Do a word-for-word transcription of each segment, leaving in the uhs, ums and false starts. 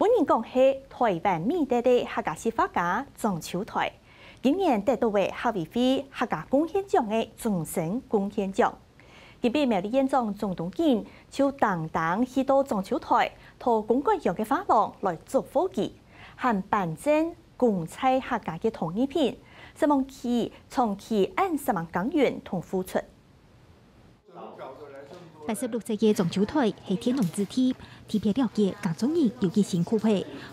分人講係台灣美德个客家實畫家張秋台，今年得到个客委會客家貢獻獎个終身貢獻獎。今晡苗栗縣長鍾東錦就單單去到張秋台，到公館鄉个畫廊來祝福佢，還頒贈公在客家个陶藝品，承蒙佢長期恁煞猛耕耘同付出。 八十六歲个張秋台係田農子弟，特別了解耕種人有幾辛苦个。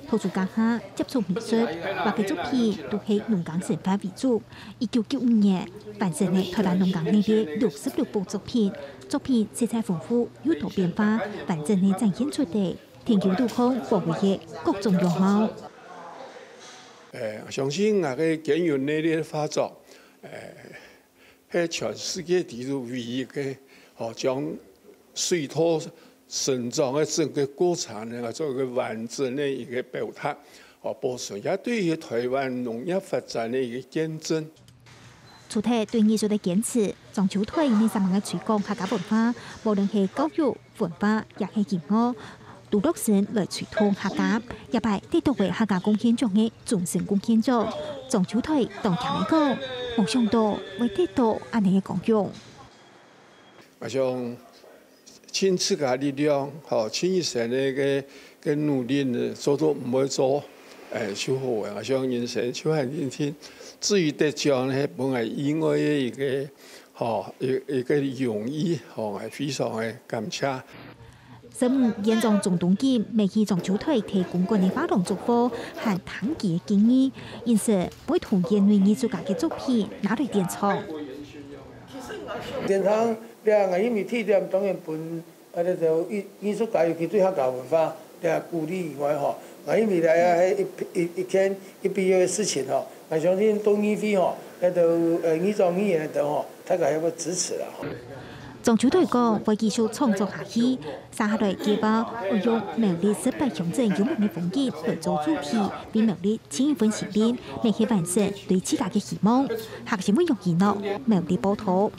讀書該下接觸美術，畫个作品都係農耕生活為主。一九九五年，完成了台灣農耕日个六十六幅作品，作品色彩豐富，有多變化，完整个展現出來，田坵肚項寶貝个各種樣貌。誒，相信𠊎个耕耘日个畫作，誒， 係全世界地圖唯一个，吼，將水稻生長个整个過程呢，做一个完整个一个表達，吼，保存也對於台灣農業發展个一个見證。除忒對藝術个堅持，張秋台呢，煞猛个推廣客家文化，無論係教育、 文化也係音樂，都落身來推動客家，這擺得到个客家貢獻獎个終身貢獻獎，張秋台當慶个講，無想到會得到恁樣个光榮。𠊎想盡自家力量，吼，盡一生个个个努力呢，做到毋會做，誒，就好个。𠊎想人生就恁定定。至於得獎呢，係本來意外个一个，吼，一一个榮譽，吼，𠊎非常个感謝。 十五縣長鍾東錦每去張秋台个公館个畫廊祝福，還聽佢个建議，因此會同園內藝術家个作品拿來展場。展場，這𠊎因為地點當然分，啊，這个藝藝術家，尤其對客家文化這鼓勵以外吼，𠊎因為這係一一一件一必要个事情吼，𠊎相信到議會吼，這个呃議長議員等吼，大家也會支持啦吼。 張秋台講會繼續創作下去，接下來計畫會用苗栗十八鄉鎮有名个風景來做主題，為苗栗盡一份心力，乜係完成對自家个希望。客家新聞楊怡諾，苗栗報導。